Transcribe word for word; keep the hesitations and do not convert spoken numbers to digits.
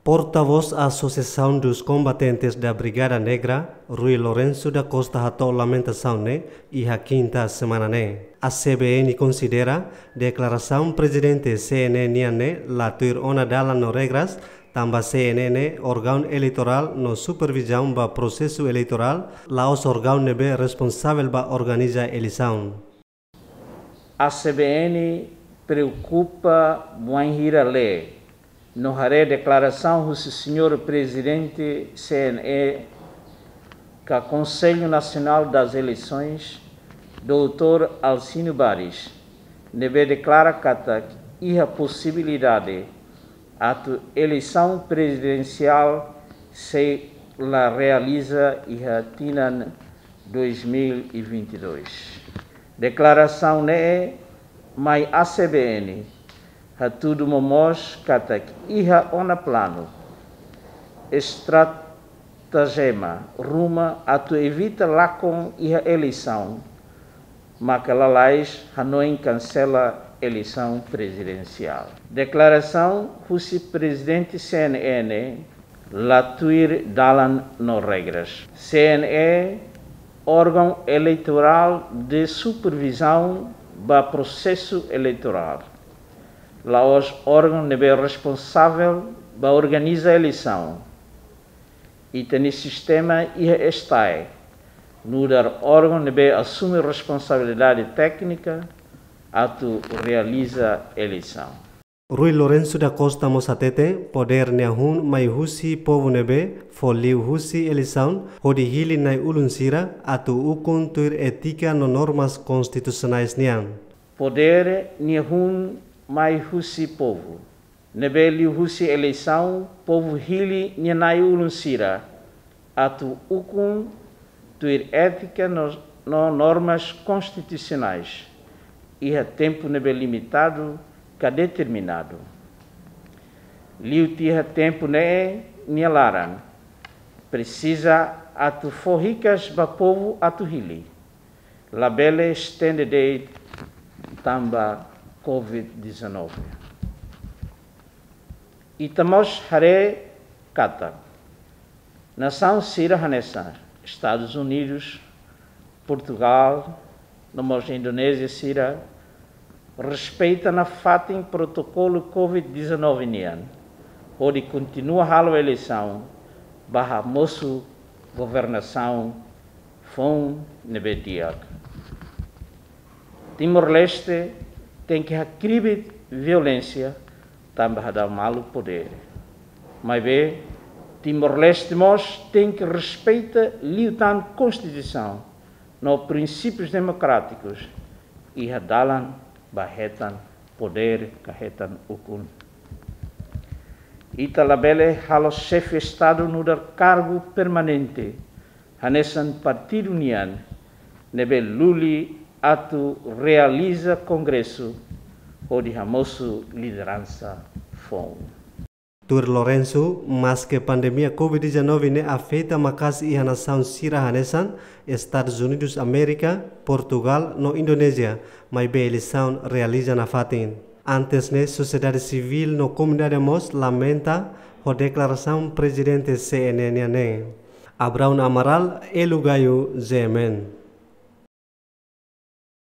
Portavós Associação dos Combatentes da Brigada Negra, Rui Lourenço da Costa, hato'o lamentasaun ne'e iha kinta semana ne'e. A C B N konsidera deklarasaun prezidente C N E nian ne'e la tuir ona dalan no regras, tanba C N E ne'e órgaun eleitorál no supervizaun ba prosesu eleitorál, la'ós órgaun ne'ebé responsavel ba organiza eleisaun. A C B N preokupa bainhira lee no haree deklarasaun husi señór prezidente C N E ka Conselho Nacional das Eleições, doutór Alcino Baris, ne'ebé deklara katak iha posibilidade atu eleisaun prezidensiál sei la realiza iha tinan dois mil e vinte e dois. Deklarasaun ne'e mai A C B N hatudu momoos katak iha ona planu, estratejema ruma atu evita lakon iha eleisaun, maka lalais hanoin kansela eleisaun prezidensiál. Deklarasaun husi prezidente C N E ne'e la tuir dalan no regras. C N E órgaun eleitorál de supervizaun ba prosesu eleitorál, la'ós órgaun ne'ebé responsavel ba organiza eleisaun. Ita-nia sistema iha STAE, nu'udar órgaun ne'ebé asume responsabilidade téknika atu realiza eleisaun. Rui Lourenço da Costa mós hatete, podér ne'e hun mai husi povu ne'ebé fó liu husi eleisaun, hodi hili na'i-ulun sira atu ukun tuir étika no normas konstitusionais nian. Podér ne'e hun mai husi povu, ne'ebé liu husi eleisaun, povu hili nia na'i-ulun sira atu ukun tuir étika no, no normas konstitusionais, iha tempu ne'ebé limitadu ka determinadu. Liu tiha tempu ne'e nia laran, presiza atu fó hikas ba povu atu hili. Labele estende de'it tanba COVID dezanove. Ita mós haree katak nasaun sira hanesan Estadus Unidus, Portugál, no mós Indonézia sira respeita nafatin protokolu COVID dezanove nian, hodi kontinua halo eleisaun ba hamosu governasaun foun ne'ebé di'ak. Timor-Leste tenke hakribi violénsia tanba hadau malu podér. Maibé, Timor-Leste mós tenke respeita liután Konstituisaun no prinsípius demokrátikus iha dalan ba hetan podér ka hetan ukun. Ita labele halo xefe Estadu nu'udar kargu permanente hanesan partidu nian ne'ebé luli atu realiza kongresu hodi hamosu lideransa foun. Tuir Lourenço, maske pandemia COVID dezanove ne'e afeta maka'as iha nasaun sira hanesan Estadus Unidus Amérika, Portugál no Indonézia, maibé eleisaun realiza nafatin. Antes ne'e, sosiedade sivíl no komunidade mós lamenta ho deklarasaun prezidente C N E nian ne'e. Abraão Amaral, Elu Gayo, G M N.